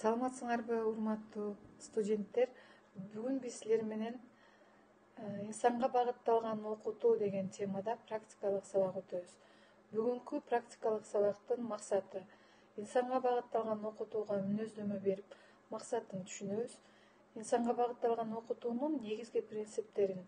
Саламатсыңарбы, урматтуу студенттер? Бүгүн биз силер менен инсанга багытталган окутуу деген темада практикалык сабак өтөбүз. Бүгүнкү практикалык сабактын максаты инсанга багытталган окутууга мүнөздөмө берип, максатын түшүнөбүз. Инсанга багытталган окутуунун негизги принциптерин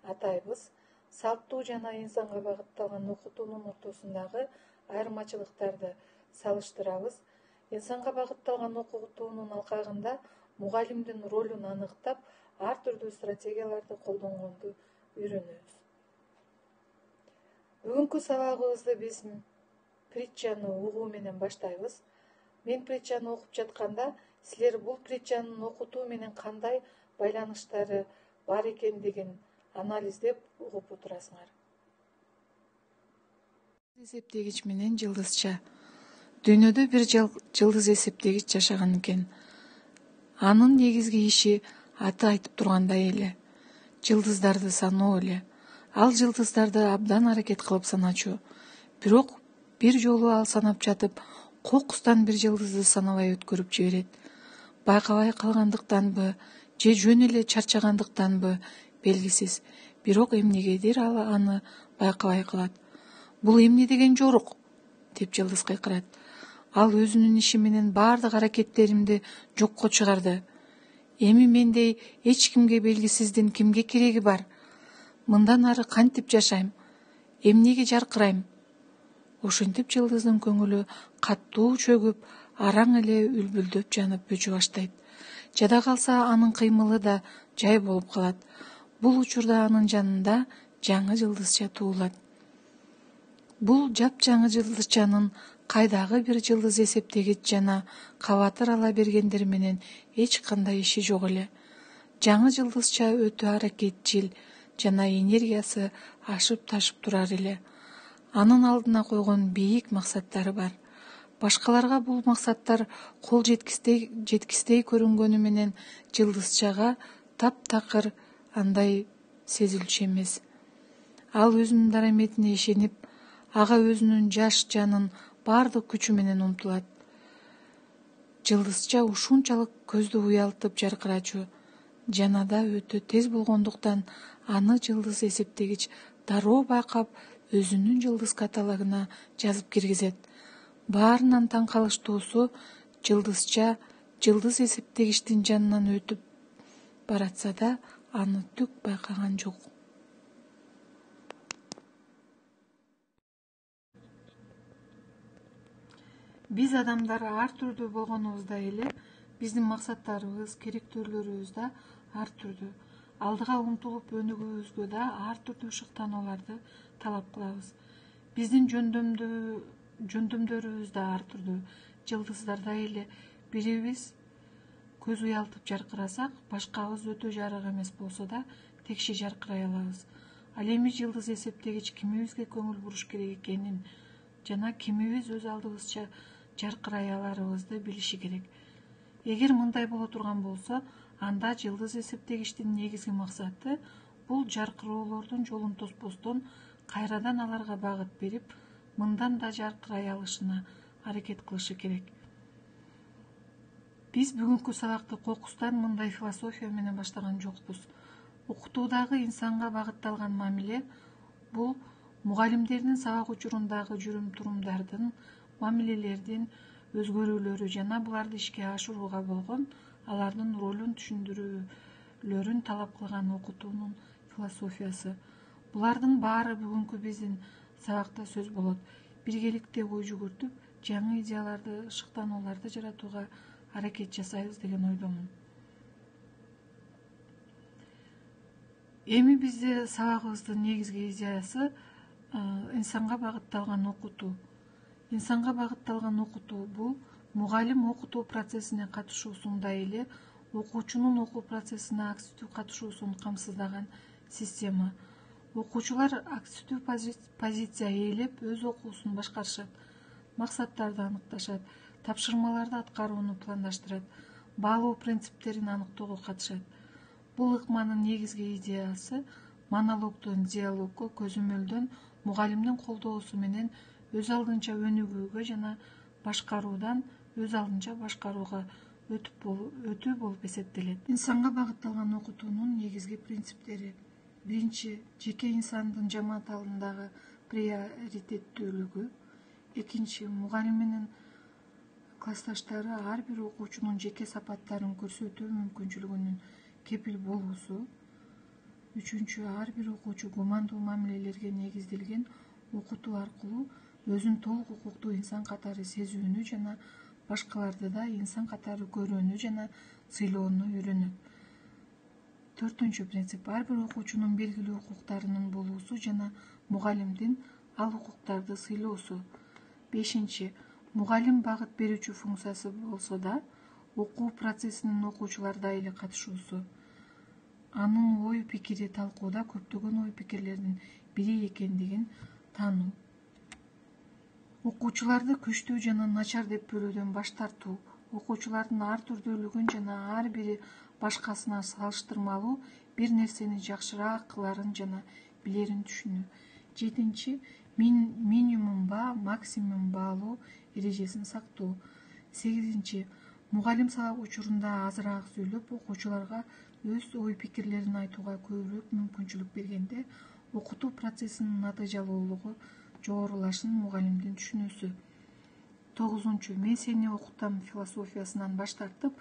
атайбыз. Салттуу жана инсанга багытталган окутуунун ортосундагы айырмачылыктарды салыштырабыз. Инсанга багытталган окутуунун алкагында мугалимдин ролун аныктап, ар түрдүү стратегияларды колдонгонду үйрөнөбүз. Бүгүнкү сабагыбызды биз притчаны угуу менен баштайбыз. Мен притчаны окуп жатканда, силер бул притчанын окутуу менен кандай байланыштары бар экендигин анализдеп угуп отурасыңар. Эсептегич менен жылдызча. Дүйнөдө бир жылдыз эсептегич жашаган экен. Анын негизги иши аты айтып тургандай эле. Жылдыздарды саноо эле. Ал жылдыздарды абдан аракет кылып саначу. Бирок бир жолу ал санап жатып, кокустан бир жылдызды санабай өткөрүп жиберет. Байкабай калгандыктанбы, же жөн эле чарчагандыктанбы белгисиз. Бирок эмнегедир ал аны байкабай калат. Бул эмне деген жорук? Деп жылдыз кыйкырат. Ал өзүнүн иши менен баардык аракеттеримди жокко чыгарды. Эми мендей эч кимге белгисиздин кимге кереги бар? Мындан ары кантип жашайм? Эмнеге жаркырайм? Ошентип жылдыздын көңүлү катуу чөгүп, араң эле үлбүлдөп жанып өчү баштайт. Жада калса анын кыймылы да жай болуп калат. Бул учурда анын жанында жаңы жылдызча туулат. Бул жапжаңы жылдызчанын кайдагы бир жылдыз эсептегич жана кабатыр ала бергендер менен эч кандай иши жок эле. Жаңы жылдызча өтө аракетчил жана энергиясы ашып ташып турар эле. Анын алдына койгон бийик максаттары бар. Башкаларга бул максаттар кол жеткистей көрүнгөнү менен жылдызчага таптакыр андай сезилчү эмес. Ал өзүнүн дараметине ишенип, ага өзүнүн жаш жанын баардык күчү менен умтулат. Жылдызча ушунчалык көздү уялтып жаркырачу. Жанада өтө тез болгондуктан аны жылдыз эсептегич дароо байкап, өзүнүн жылдыз каталогуна жазып киргизет. Баарынан таң калыштуусу, жылдызча жылдыз эсептегичтин жанынан өтүп баратса да, аны түк байкаган жок. Биз адамдар ар түрдүү болгонубуздай эле, биздин максаттарыбыз, керектөөлөрүбүз да ар түрдүү. Алдыга умтулуп өнүгүүбүзгө да ар түрдүү шыктанууларды талап кылабыз. Биздин жөндөмдөрүбүз да ар түрдүү. Жылдыздардай эле бирибиз көз уялтып жаркырасак, башкабыз өтө жарык эмес болсо да текши жаркырай алабыз. Ал эми жылдыз эсептегич кимибизге көңүл буруш керек экенин жана кимибиз өз алдыбызча жаркырай аларыбызды билиши керек. Эгер мындай боло турган болсо, анда жылдыз эсептегичтин негизги максаты бул жаркыроолордун жолун тоспостон кайрадан аларга багыт берип, мындан да жаркырай алышына аракет кылышы керек. Биз бүгүнкү сабакты кокустан мындай философия менен баштаган жокпуз. Окутуудагы инсанга багытталган мамиле бул мугалимдердин сабак учурундагы жүрүм-турумдардын, мамилелердин өзгөрүүлөрү жана буларды ишке ашырууга болгон алардын ролун түшүндүрүүлөрүн талап кылган окутуунун философиясы. Булардын баары бүгүнкү биздин сабакта сөз болот. Биргеликте ой жүгүртүп, жаңы идеяларды, шыктанууларды жаратууга аракет жасайбыз деген ойдомун. Эми бизде сабагыбыздын негизги идеясы инсанга багытталган окутуу. Инсанга багытталган окутуу бул мугалим окутуу процессине катышуусундай эле окуучунун окуу процессине акстүү катышуусун камсыздаган система. Окуучулар акстүү позиция ээлеп, өз окуусун башкарышат, максаттарды аныкташат, тапшырмаларды аткарууну пландаштырат, баалоо принциптерин аныктоого катышат. Бул ыкманын негизги идеясы монологдон диалогго көзөмөлдөн мугалимдин колдоосу менен өз алдынча өнүгүүгө жана башкаруудан өз алдынча башкарууга өтүү болуп эсептелет. Инсанга багытталган окутуунун негизги принциптери: биринчи, жеке инсандын жамаат алдындагы приоритеттүүлүгү. Экинчи, мугалим менен классташтары ар бир окуучунун жеке сапаттарын көрсөтүү мүмкүнчүлүгүнүн кепил болуусу. Үчүнчү, ар бир окуучу гумандуу мамилелерге негизделген окутуу аркылуу өзүн толук укуктуу инсан катары сезүүнү жана башкаларды да инсан катары көрүүнү жана сыйлоону үйрөнөт. Төртүнчү принцип, ар бир окуучунун белгилүү укуктарынын болуусу жана мугалимдин ал укуктарды сыйлоосу. Бешинчи, мугалим багыт берүүчү функциясы болсо да, окуу процессинин окуучуларда эле катышуусу. Анын ой пикири талкууда көптөгөн ой пикирлердин бири экендигин таануу. Окуучуларды күчтүү жана начар деп бөлүүдөн баш тартуу. Окуучулардын ар түрдүүлүгүн жана ар бири башкасына салыштырмалуу бир нерсени жакшыраак кыларын жана билерин түшүнүү. Жетинчи, минимум ба максимум баалоо эрежесин сактоо. Сегизинчи, мугалим сабак учурунда азыраак сүйлөп, окуучуларга өз ой пикирлерин айтууга көбүрөөк мүмкүнчүлүк бергенде окутуу процессинин натыйжалуулугу жогорулашын мугалимдин түшүнүүсү. Тогузунчу, мен сени окутам философиясынан баш тартып,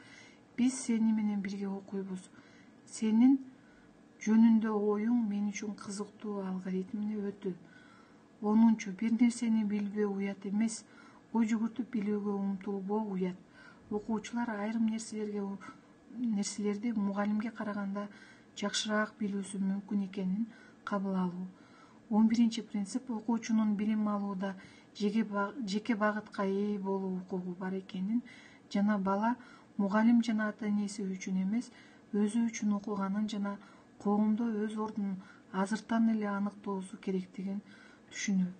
биз сени менен бирге окуйбуз. Сенин жөнүндө оюң мен үчүн кызыктуу алгоритмине өтүү. Онунчу, бир нерсени билбөө уят эмес, ой жүгүртүп билүүгө умтулбоо уят. Окуучулар айрым нерселерди мугалимге караганда жакшыраак билүүсү мүмкүн экенин кабыл алуу. 11-чи принцип, окуучунун билим алууда жеке багытка ээ болуу укугу бар экенин жана бала мугалим жана ата-энеси үчүн эмес, өзү үчүн окуганын жана коомдо өз ордунун азыртан эле аныктоосу керектигин түшүнүү.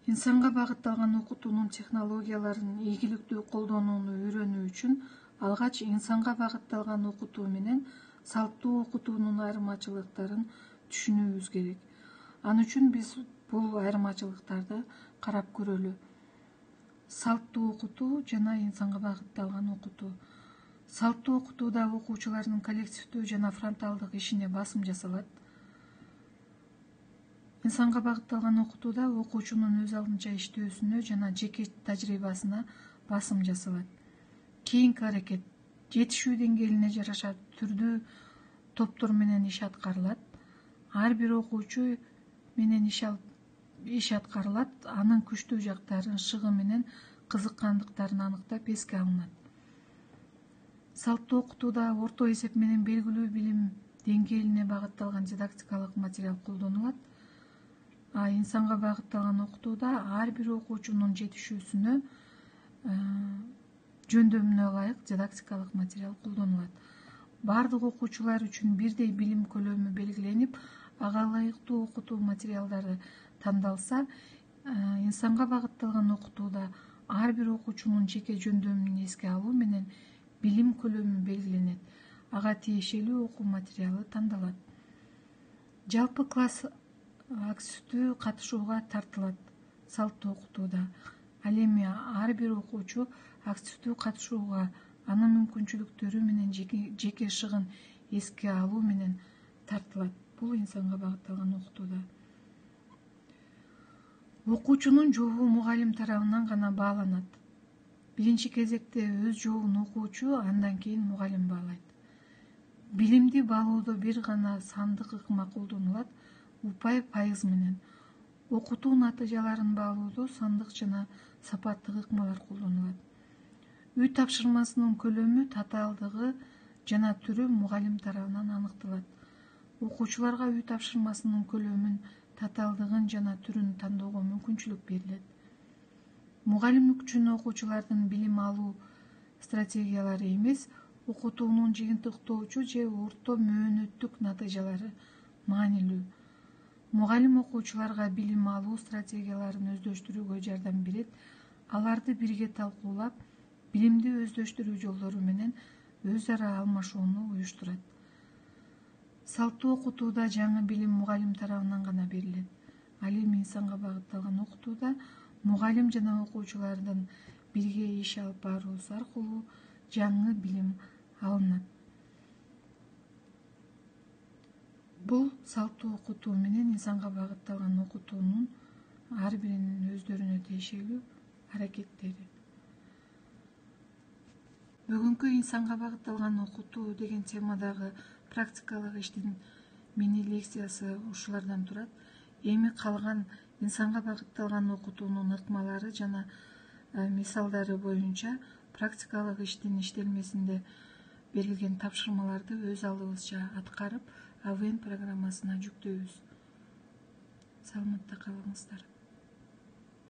Инсанга багытталган окутуунун технологияларын ийгиликтүү колдонууну үйрөнүү үчүн алгач инсанга багытталган окутуу менен салттуу окутуунун айырмачылыктарын түшүнүүбүз керек. Ал үчүн биз бул айырмачылыктарды карап көрөлү. Салттуу окутуу жана инсанга багытталган окутуу. Салттуу окутууда окуучулардын коллективдүү жана фронталдык ишине басым жасалат. Инсанга багытталган окутууда окуучунун өз алдынча иштөөсүнө жана жеке тажрыйбасына басым жасалат. Кийинки аракет жетишүү деңгээлине жараша түрдүү топтор менен иш аткарылат. Ар бир окуучу менен иш аткарылат, анын күчтүү жактарын, шыгы менен кызыккандыктарын аныктап эске алынат. Салттуу окутууда орто эсеп менен белгилүү билим деңгээлине багытталган дидактикалык материал колдонулат. Инсанга багытталган окутууда ар бир окуучунун жетишүүсүнө жөндөмүнө ылайык дидактикалык материал колдонулат. Бардык окуучулар үчүн бирдей билим көлөмү белгиленип, ага ылайыктуу окутуу материалдары тандалса, инсанга багытталган окутууда ар бир окуучунун жеке жөндөмүн эске алуу менен билим көлөмү белгиленет, ага тиешелүү окуу материалы тандалат. Жалпы класс активдүү катышууга тартылат салттуу окутууда. Ал эми ар бир окуучу активдүү катышууга, анын мүмкүнчүлүктөрү менен жеке шыгын эске алуу менен тартылат. Бул инсанга багытталган окутууда. Окуучунун жообу мугалим тарабынан гана бааланат. Биринчи кезекте өз жообун окуучу, андан кийин мугалим баалайт. Билимди баалоодо бир гана сандык ыкма колдонулат, упай пайыз менен. Окутуу натыйжаларын баалоодо сандык жана сапаттык ыкмалар колдонулат. Үй тапшырмасынын көлөмү, татаалдыгы жана түрү мугалим тарабынан аныкталат. Окуучуларга үй тапшырмасынын көлөмүн, татаалдыгын жана түрүн тандоого мүмкүнчүлүк берилет. Мугалим үчүн окуучулардын билим алуу стратегиялары эмес, окутуунун жыйынтыктоочу же орто мөөнөттүк натыйжалары маанилүү. Мугалим окуучуларга билим алуу стратегияларын өздөштүрүүгө жардам берет, аларды бирге талкуулап, билимди өздөштүрүү жолдору менен өз ара алмашууну уюштурат. Салттуу окутууда жаңы билим мугалим тарабынан гана берилет. Ал эми инсанга багытталган окутууда мугалим жана окуучулардын бирге иш алып баруусу аркылуу жаңы билим алынат. Бул салттуу окутуу менен инсанга багытталган окутуунун ар биринин өздөрүнө тиешелүү аракеттери. Бүгүнкү инсанга багытталган окутуу деген темадагы практикалык иштин мини лекциясы ушулардан турат. Эми калган инсанга багытталган окутуунун ыкмалары жана мисалдары боюнча практикалык иштин иштелмесинде берилген тапшырмаларды өз алдыбызча аткарып, АВН программасына жүктөйбүз. Саламатта калыңыздар.